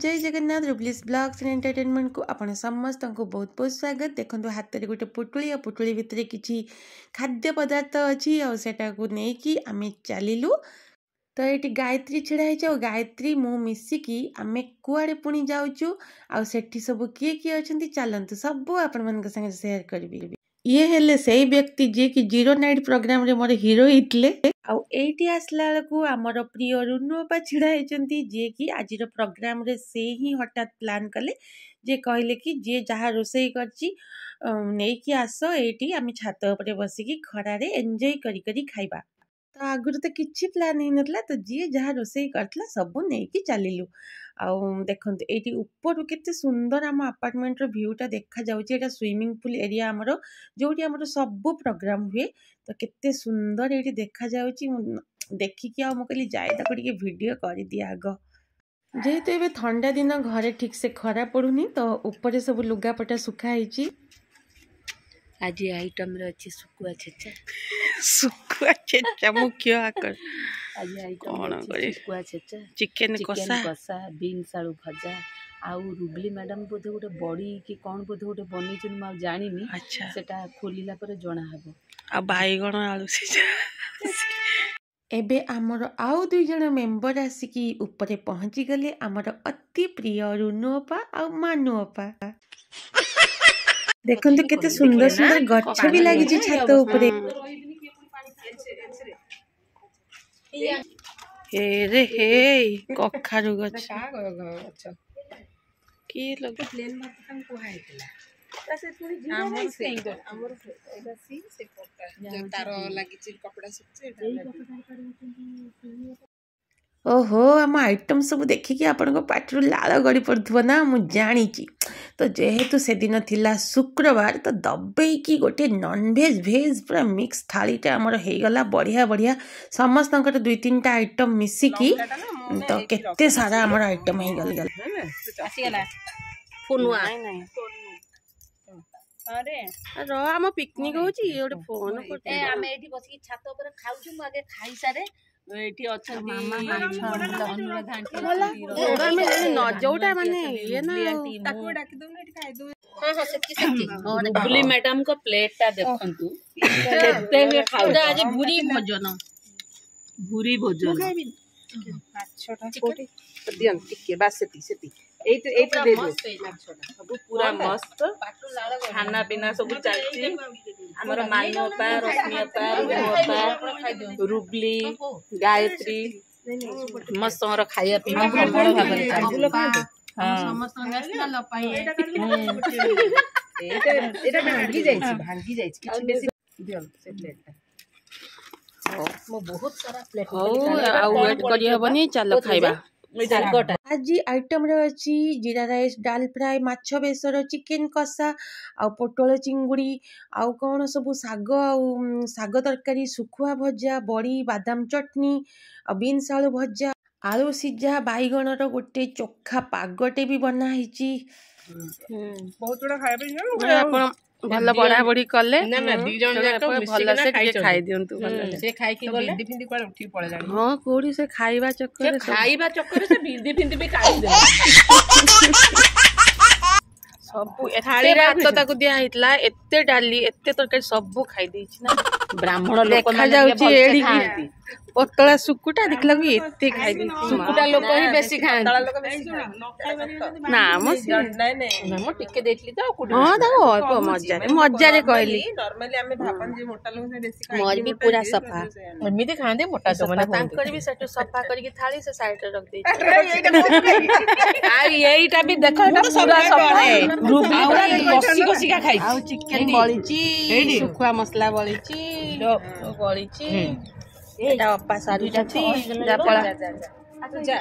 Jay Jagannath. ରୁବଲିସ୍ blogs and ଏଣ୍ଟରଟେନମେଣ୍ଟକୁ ଆପଣ ସମସ୍ତଙ୍କୁ ବହୁତ ବହୁତ ସ୍ୱାଗତ। ଦେଖନ୍ତୁ, ହାତରେ ଗୋଟେ ପୁଟୁଳି ଆଉ ପୁଟୁଳି ଭିତରେ କିଛି ଖାଦ୍ୟ ପଦାର୍ଥ ଅଛି ଆଉ ସେଟାକୁ ନେଇକି ଆମେ ଚାଲିଲୁ। ତ ଏଇଠି ଗାୟତ୍ରୀ ଛିଡ଼ା ହେଇଛି ଆଉ ଗାୟତ୍ରୀ ମୁଁ ମିଶିକି ଆମେ କୁଆଡ଼େ ପୁଣି ଯାଉଛୁ ଆଉ ସେଠି ସବୁ କିଏ କିଏ ଅଛନ୍ତି, ଚାଲନ୍ତୁ ସବୁ ଆପଣମାନଙ୍କ ସାଙ୍ଗରେ ସେୟାର କରିବି। ଇଏ ହେଲେ ସେଇ ବ୍ୟକ୍ତି ଯିଏକି ଜିରୋ ନାଇଟ୍ ପ୍ରୋଗ୍ରାମରେ ମୋର ହିରୋ ହେଇଥିଲେ। ଆଉ ଏଇଠି ଆସିଲା ବେଳକୁ ଆମର ପ୍ରିୟ ରୁନୁ ଅପା ଛିଡ଼ା ହେଇଛନ୍ତି, ଯିଏକି ଆଜିର ପ୍ରୋଗ୍ରାମରେ ସେ ହିଁ ହଠାତ୍ ପ୍ଲାନ୍ କଲେ ଯେ କହିଲେ କି ଯିଏ ଯାହା ରୋଷେଇ କରିଛି ନେଇକି ଆସ, ଏଇଠି ଆମେ ଛାତ ଉପରେ ବସିକି ଖରାରେ ଏନ୍ଜୟ କରି କରି ଖାଇବା। ତ ଆଗରୁ ତ କିଛି ପ୍ଲାନ୍ ହେଇନଥିଲା, ତ ଯିଏ ଯାହା ରୋଷେଇ କରିଥିଲା ସବୁ ନେଇକି ଚାଲିଲୁ। ଆଉ ଦେଖନ୍ତୁ, ଏଇଠି ଉପରୁ କେତେ ସୁନ୍ଦର ଆମ ଆପାର୍ଟମେଣ୍ଟର ଭ୍ୟୁଟା ଦେଖାଯାଉଛି। ଏଇଟା ସୁଇମିଂ ପୁଲ୍ ଏରିଆ ଆମର, ଯେଉଁଠି ଆମର ସବୁ ପ୍ରୋଗ୍ରାମ ହୁଏ। ତ କେତେ ସୁନ୍ଦର ଏଇଠି ଦେଖାଯାଉଛି, ମୁଁ ଦେଖିକି ଆଉ ମୁଁ କହିଲି ଯାଏ ତାକୁ ଟିକେ ଭିଡ଼ିଓ କରିଦିଏ ଆଗ। ଯେହେତୁ ଏବେ ଥଣ୍ଡା ଦିନ, ଘରେ ଠିକ୍ସେ ଖରା ପଡ଼ୁନି, ତ ଉପରେ ସବୁ ଲୁଗାପଟା ଶୁଖା ହେଇଛି। ଆଜି ଆଇଟମରେ ଅଛି ଶୁଖୁଆ ଛେଚା। ଶୁଖୁଆ ଛେଚା ମୁଖ୍ୟ ଆକର। ଆଜି ଆଇଟମ କଣ କରି ଶୁଖୁଆ ଛେଚା, ଚିକେନ କଷା, କଷା, ବିନ୍ସ ଆଳୁ ଭଜା ଆଉ ରୁବଲି ମ୍ୟାଡ଼ାମ ବୋଧେ ଗୋଟେ ବଡ଼ି କି କ'ଣ ବୋଧେ ଗୋଟେ ବନେଇଛନ୍ତି, ମୁଁ ଆଉ ଜାଣିନି। ଆଚ୍ଛା, ସେଟା ଖୋଲିଲା ପରେ ଜଣା ହବ। ଆଉ ବାଇଗଣ ଆଳୁ ସିଝା। ଏବେ ଆମର ଆଉ ଦୁଇ ଜଣ ମେମ୍ବର ଆସିକି ଉପରେ ପହଞ୍ଚିଗଲେ, ଆମର ଅତି ପ୍ରିୟ ରୁନୁ ଅପା ଆଉ ମାନୁ ଅପା। ଦେଖନ୍ତୁ, କେତେ ସୁନ୍ଦର ସୁନ୍ଦର ଗଛ ବି ଲାଗିଛି ଛାତ ଉପରେ। ରେ ହେଇ କଖାରୁ ଗଛ କିଏ ଲଗା? ତାର ଲାଗିଛି, କପଡ଼ା ଶୁଖୁଛି। ଓହୋ, ଆମ ଆଇଟମ୍ ସବୁ ଦେଖିକି ଆପଣଙ୍କ ପାଟିରୁ ଲାଳ ଗଡ଼ି ପଡ଼ୁଥିବ ନା, ମୁଁ ଜାଣିଛି। ତ ଯେହେତୁ ସେଦିନ ଥିଲା ଶୁକ୍ରବାର, ତ ଦବେଇକି ଗୋଟେ ନନଭେଜ୍ ଭେଜ୍ ପୁରା ମିକ୍ସ ଥାଳିଟା ଆମର ହେଇଗଲା। ବଢ଼ିଆ ବଢ଼ିଆ ସମସ୍ତଙ୍କର ଦୁଇ ତିନିଟା ଆଇଟମ୍ ମିଶିକି ତ କେତେ ସାରା ଆମର ଆଇଟମ୍ ହେଇଗଲା। ଆସିଗଲା ଫୋନୁଆ। ର, ଆମ ପିକନିକ୍ ହଉଛି, ଇଏ ଗୋଟେ ଫୋନ। ଆମେ ଏଇଠି ବସିକି ଛାତ ଉପରେ ଖାଉଛୁ। ମୁଁ ଆଗେ ଖାଇସାରେ। ଏଇଠି ଅଛନ୍ତି ଅନୁରାଧା ଆଣ୍ଟି, ଯୋଉଟା ମାନେ ଇଏ ନା। ତାକୁ ଡାକି ଦଉନୁ, ଏଠି ଖାଇଦଉ। ହଁ ହଁ, ସେତିକି ସେତିକି। ରୁବଲି ମ୍ୟାଡାମଙ୍କ ପ୍ଲେଟ ଟା ଦେଖନ୍ତୁ କେତେ ଖାଉଛି ଆଜି। ଭୁରି ଭୋଜନ, ଭୁରି ଭୋଜନ। ମାଛଟା କୋଉଠି ଦିଅନ୍ତୁ ଟିକେ, ବାସ୍ ସେତିକି ସେତିକି। ଏଇଠି ଏଇଠି ଦେଇଦିଅ। ସବୁ ପୁରା ମସ୍ତ ଖାନା ପିନା ସବୁ ଚାଲିଛି। ଆମର ମାନୁ ଅପା, ରଶ୍ମି ଅପା, ରୁନୁ ଅପା, ରୁବଲି, ଗାୟତ୍ରୀ, ସମସ୍ତଙ୍କର ଖାଇବା ପିଇବା ପ୍ରବଳ ଭାବରେ ଚାଲିଛି। ଏଇଟା ଏଇଟା ଭାଙ୍ଗି ଯାଇଛି, ଭାଙ୍ଗି ଯାଇଛି, କିଛି ବେଶୀ ଦିଅନ୍ତୁ ସେ ପ୍ଲେଟଟା। ମୁଁ ବହୁତ ସାରା ପ୍ଲେଟ। ହଉ, ଆଉ ୱେଟ୍ କରିହବନି, ଚାଲ ଖାଇବା। ଶାଗଟା ଆଜି ଆଇଟମ୍ରେ ଅଛି ଜିରା ରାଇସ୍, ଡାଲ ଫ୍ରାଏ, ମାଛ ବେସର, ଚିକେନ କଷା ଆଉ ପୋଟଳ ଚିଙ୍ଗୁଡ଼ି ଆଉ କ'ଣ ସବୁ ଶାଗ ଆଉ ଶାଗ ତରକାରୀ, ଶୁଖୁଆ ଭଜା, ବଡ଼ି, ବାଦାମ ଚଟଣି ଆଉ ବିନ୍ସ ଆଳୁ ଭଜା, ଆଳୁ ସିଝା, ବାଇଗଣର ଗୋଟେ ଚୋଖା ପାଗଟେ ବି ବନା ହେଇଛି। ବହୁତ ଗୁଡ଼ା ଖାଇବା ପାଇଁ। ଆପଣ ଭଲ ବଢା ବଢି କଲେ। ନା ନା, ଦି ଜଣ ଯାକ ଭଲସେ ଟିକେ ଖାଇ ଦିଅନ୍ତୁ। ସେ ଖାଇକି ଗଲେ ଭିଣ୍ଡି ଫିଣ୍ଡି କୁଆଡେ ଉଠିକି ପଳେଇଲାଣି। ହଁ, କୋଉଠି ସେ ଖାଇବା ଚକ୍କରରେ, ଖାଇବା ଚକ୍କରରେ ସେ ଭିଣ୍ଡି ଫିଣ୍ଡି ବି ଖାଇଦେଲେ ସବୁ। ଏତେ ଭାତ ତାକୁ ଦିଆ ହେଇଥିଲା, ଏତେ ଡାଲି, ଏତେ ତରକାରୀ, ସବୁ ଖାଇ ଦେଇଛି ନା। ବ୍ରାହ୍ମଣ ଲୋକ ଦେଖାଯାଉଛି ଏଡ଼ିକି ପତଳା ଶୁକୁଟା, ଦେଖିଲାକୁ ଏତେ ଖାଇ ଦେଇଛି। ଶୁକୁଟା ଲୋକ ହିଁ ବେଶୀ ଖାଆନ୍ତି। ନା ମ, ନାଇଁ ନାଇଁ, ମୁଁ ଟିକେ ଦେଇଥିଲି ତ। ହଁ, ତାକୁ ଅଳ୍ପ ମଜାରେ ମଜାରେ କହିଲି। ନର୍ମାଲି ଆମେ ଭାବନ୍ତି ମୋଟା ଲୋକ ବେଶୀ। ମୋର ବି ପୁରା ସଫା। ଏମିତି ଖାଆନ୍ତି ମୋଟା ଯୋଉମାନେ। ତାଙ୍କର ବି ସେଠୁ ସଫା କରିକି ଥାଳି ସେ ସାଇଡରେ ରଖିଦେଇଛି। ଆଉ ଏଇଟା ବି ଦେଖ, ଏଇଟା ପୁରା ସଫା। ରୁବଲି ପୁରା କଷି କଷିକା ଖାଇଛି। ଆଉ ଚିକେନ ବଳିଛି, ଶୁଖୁଆ ମସଲା ବଳିଛି, ବଳିଛି। ଏଇଟା ଅପା ସାରୁଛନ୍ତି। ପଳା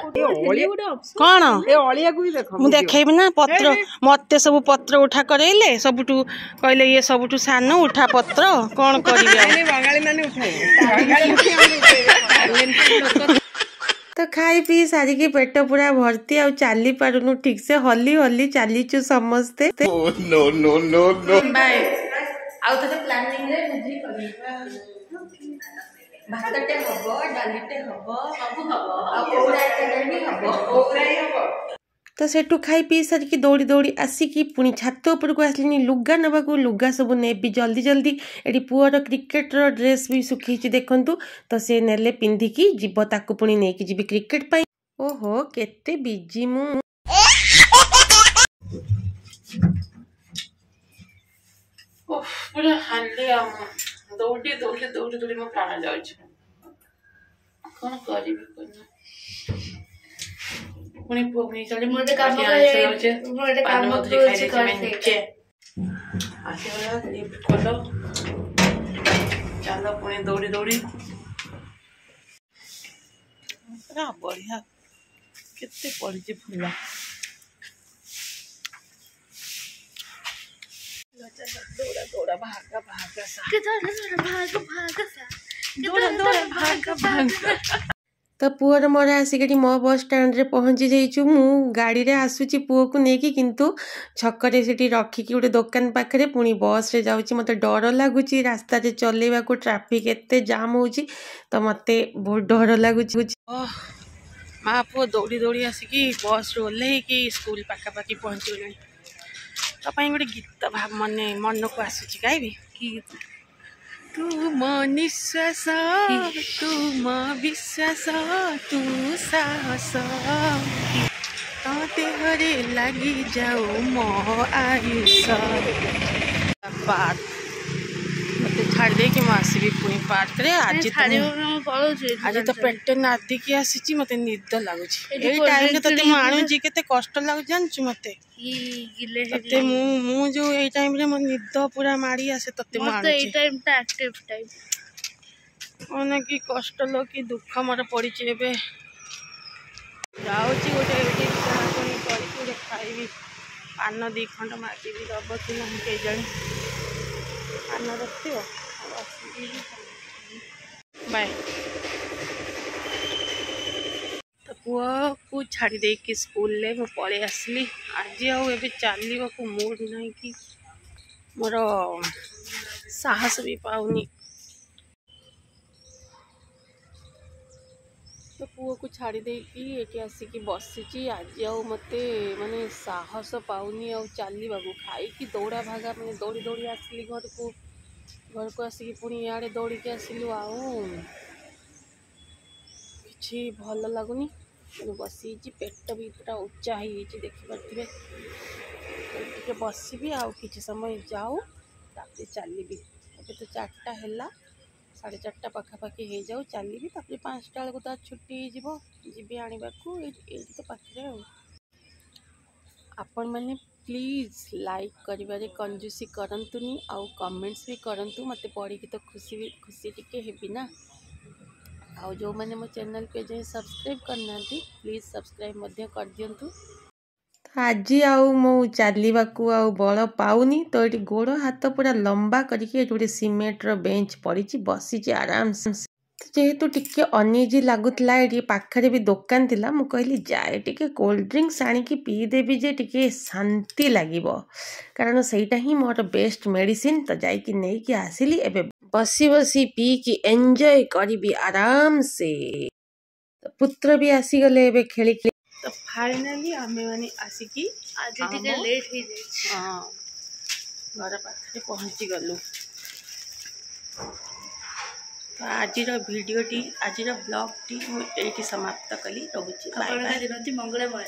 କଣ ଏ ଅଳିଆକୁ ବି ଦେଖ। ମୁଁ ଦେଖେଇବି ନା ପତ୍ର। ମତେ ସବୁ ପତ୍ର ଉଠା କରେଇଲେ, ସବୁଠୁ କହିଲେ ଇଏ ସବୁଠୁ ସାନ, ଉଠା ପତ୍ର। କଣ କରିବି ଆଉ? ବଙ୍ଗାଳୀ ମାନେ ଉଠେଇବେ। ତ ଖାଇ ପିଇ ସାରିକି ପେଟ ପୁରା ଭର୍ତ୍ତି, ଆଉ ଚାଲି ପାରୁନୁ ଠିକ ସେ, ହଲି ହଲି ଚାଲିଛୁ ସମସ୍ତେ। No, no, no, no. Bye. ଆଉ ଥରେ ପ୍ଲାନିଂରେ ବୁଝି କରିବା। ଭାତଟେ ହବ, ଡାଲିଟେ ହବ, ସବୁ ହବ, ଆଉ ଓଉ ରାଇତାଟା ବି ହବ। ଓଉ ରାଇ ହବ। ତ ସେଠୁ ଖାଇ ପିଇ ସାରିକି ଦୌଡ଼ି ଦୌଡ଼ି ଆସିକି ପୁଣି ଛାତ ଉପରକୁ ଆସିଲିନି ଲୁଗା ନେବାକୁ। ଲୁଗା ସବୁ ନେବି ଜଲ୍ଦି ଜଲ୍ଦି। ଏଠି ପୁଅର କ୍ରିକେଟର ଡ୍ରେସ୍ ବି ଶୁଖେଇଛି ଦେଖନ୍ତୁ। ତ ସେ ନେଲେ ପିନ୍ଧିକି ଯିବ, ତାକୁ ପୁଣି ନେଇକି ଯିବି କ୍ରିକେଟ ପାଇଁ। ଓହୋ, କେତେ ବିଜି ମୁଁ। ପୁରା ହାଲିଆ ମୁଁ, ଦୌଡ଼ି ଦୌଡ଼ି ଦୌଡ଼ି ଦୌଡ଼ି ମୋ ପ୍ରାଣ ଯାଉଛି। କ'ଣ କରିବି କହୁନ? ପୁଣି ପୁଅକୁ ନେଇ ଚାଲି। ମୁଁ ଗୋଟେ କାମ ମୁଁ ଗୋଟେ କାମ କହୁଛି, କର ସେଇଟା। ଆସିଗଲା, ଲିଫ୍ଟ ଖୋଲ, ଚାଲ ପୁଣି ଦୌଡ଼ି ଦୌଡ଼ି। ପୁରା ବଢ଼ିଆ କେତେ ପଡ଼ିଛି ଫୁଲ। ଦୌଡ଼ା ଦୌଡ଼ା ଭାଗା ଭାଗା ସା, ଭାଗ ଭାଗ ସା, ଦୌଡ଼ା ଦୌଡ଼ା ଭାଗା ଭାଗା। ତ ପୁଅର ମୋର ଆସିକି ଏଠି ମୋ ବସ୍ ଷ୍ଟାଣ୍ଡରେ ପହଞ୍ଚି ଯାଇଛୁ। ମୁଁ ଗାଡ଼ିରେ ଆସୁଛି ପୁଅକୁ ନେଇକି, କିନ୍ତୁ ଛକରେ ସେଠି ରଖିକି ଗୋଟେ ଦୋକାନ ପାଖରେ ପୁଣି ବସ୍ରେ ଯାଉଛି। ମୋତେ ଡର ଲାଗୁଛି ରାସ୍ତାରେ ଚଲେଇବାକୁ, ଟ୍ରାଫିକ୍ ଏତେ ଜାମ୍ ହେଉଛି, ତ ମୋତେ ବହୁତ ଡର ଲାଗୁଛି। ମା ପୁଅ ଦୌଡ଼ି ଦୌଡ଼ି ଆସିକି ବସ୍ରୁ ଓହ୍ଲେଇକି ସ୍କୁଲ ପାଖାପାଖି ପହଞ୍ଚିଗଲେଣି। ତୋ ପାଇଁ ଗୋଟେ ଗୀତ ମାନେ ମନକୁ ଆସୁଛି, ଗାଇବି? କି ଗୀତ? ତୁ ମୋ ନିଶ୍ୱାସ, ତୁ ମୋ ବିଶ୍ୱାସ, ତୁ ସାହସ, ତୋ ଦେହରେ ଲାଗି ଯାଉ ମୋ ଆୟୁଷ। ପାର୍କ ମୋତେ ଛାଡ଼ି ଦେଇକି ମୁଁ ଆସିବି ପୁଣି ପାର୍କରେ। ଆଜି ପଳଉଛି। ଆଜି ତ ପେଟ ନାଦିକି ଆସିଛି, ମୋତେ ନିଦ ଲାଗୁଛି। ଏଇ ଟାଇମରେ ତତେ ମୁଁ ଆଣୁଛି, କେତେ କଷ୍ଟ ଲାଗୁଛି ଜାଣିଛୁ ମୋତେ? ତତେ ମୁଁ ଯୋଉ ଏଇ ଟାଇମରେ ମୋ ନିଦ ପୁରା ମାଡ଼ି ଆସେ, ତତେ ମୁଁ ଆଣୁଛି। କଣ କି କଷ୍ଟ ଲୋ, କି ଦୁଃଖ ମୋର ପଡ଼ିଛି। ଏବେ ଯାଉଛି ଗୋଟେ ଏଇଠି କିଣାକୁଣି କରିକି ଗୋଟେ ଖାଇବି। ପାନ 2 ଖଣ୍ଡ ମାଗିବି, ଦବ କି ନାହିଁ କେଜାଣି। ପାନ ରଖିଥିବ। ବାଏ। ତ ପୁଅକୁ ଛାଡ଼ି ଦେଇକି ସ୍କୁଲରେ ମୁଁ ପଳେଇ ଆସିଲି। ଆଜି ଆଉ ଏବେ ଚାଲିବାକୁ ମୁଡ୍ ନାହିଁ କି ମୋର ସାହସ ବି ପାଉନି। ତ ପୁଅକୁ ଛାଡ଼ି ଦେଇକି ଏଠି ଆସିକି ବସିଛି। ଆଜି ଆଉ ମୋତେ ମାନେ ସାହସ ପାଉନି ଆଉ ଚାଲିବାକୁ। ଖାଇକି ଦୌଡ଼ା ଭାଗା, ମାନେ ଦୌଡ଼ି ଦୌଡ଼ି ଆସିଲି ଘରକୁ, ଘରକୁ ଆସିକି ପୁଣି ଇଆଡ଼େ ଦୌଡ଼ିକି ଆସିଲୁ, ଆଉ କିଛି ଭଲ ଲାଗୁନି। ମୁଁ ବସିଛି, ପେଟ ବି ପୁରା ଉଚ୍ଚା ହେଇଯାଇଛି ଦେଖିପାରୁଥିବେ। ଟିକେ ବସିବି ଆଉ କିଛି ସମୟ ଯାଉ, ତାପରେ ଚାଲିବି। ଏବେ ତ 4ଟା ହେଲା, 4:30 ପାଖାପାଖି ହେଇଯାଉ, ଚାଲିବି। ତାପରେ 5ଟା ବେଳକୁ ତ ଛୁଟି ହେଇଯିବ, ଯିବି ଆଣିବାକୁ। ଏଇଠି ତ ପାଖରେ। ଆଉ ଆପଣମାନେ ପ୍ଲିଜ୍ ଲାଇକ୍ କରିବାରେ କଞ୍ଜୁସି କରନ୍ତୁନି, ଆଉ କମେଣ୍ଟସ୍ ବି କରନ୍ତୁ। ମୋତେ ପଢ଼ିକି ତ ଖୁସି ବି ଖୁସି ଟିକେ ହେବି ନା। ଆଉ ଯେଉଁମାନେ ମୋ ଚ୍ୟାନେଲ୍କୁ ଏଯାଏଁ ସବସ୍କ୍ରାଇବ୍ କରିନାହାନ୍ତି, ପ୍ଲିଜ୍ ସବସ୍କ୍ରାଇବ୍ ମଧ୍ୟ କରିଦିଅନ୍ତୁ। ଆଜି ଆଉ ମୁଁ ଚାଲିବାକୁ ଆଉ ବଳ ପାଉନି। ତ ଏଠି ଗୋଡ଼ ହାତ ପୁରା ଲମ୍ବା କରିକି ଏଠି ଗୋଟେ ସିମେଣ୍ଟର ବେଞ୍ଚ ପଡ଼ିଛି, ବସିଛି ଆରାମସେ। ଯେହେତୁ ଟିକେ ଅନଇଜି ଲାଗୁଥିଲା, ଏଠି ପାଖରେ ବି ଦୋକାନ ଥିଲା, ମୁଁ କହିଲି ଯାଏ ଟିକେ କୋଲ୍ଡ ଡ୍ରିଙ୍କସ୍ ଆଣିକି ପିଇଦେବି ଯେ ଟିକେ ଶାନ୍ତି ଲାଗିବ, କାରଣ ସେଇଟା ହିଁ ମୋର ବେଷ୍ଟ ମେଡ଼ିସିନ। ତ ଯାଇକି ନେଇକି ଆସିଲି, ଏବେ ବସି ବସି ପିଇକି ଏନ୍ଜୟ କରିବି ଆରାମସେ। ପୁତ୍ର ବି ଆସିଗଲେ ଏବେ ଖେଳିକି। ତ ଫାଇନାଲି ଆମେମାନେ ଆସିକି ଆଜି ଟିକେ ଲେଟ୍ ହେଇଯାଇଛି, ହଁ, ଘର ପାଖରେ ପହଞ୍ଚିଗଲୁ। ତ ଆଜିର ଭିଡ଼ିଓଟି, ଆଜିର ବ୍ଲଗ୍ଟି ମୁଁ ଏଇଠି ସମାପ୍ତ କଲି। ରହୁଛି, ବାଏ ବାଏ। ଦିନଟି ମଙ୍ଗଳମୟ।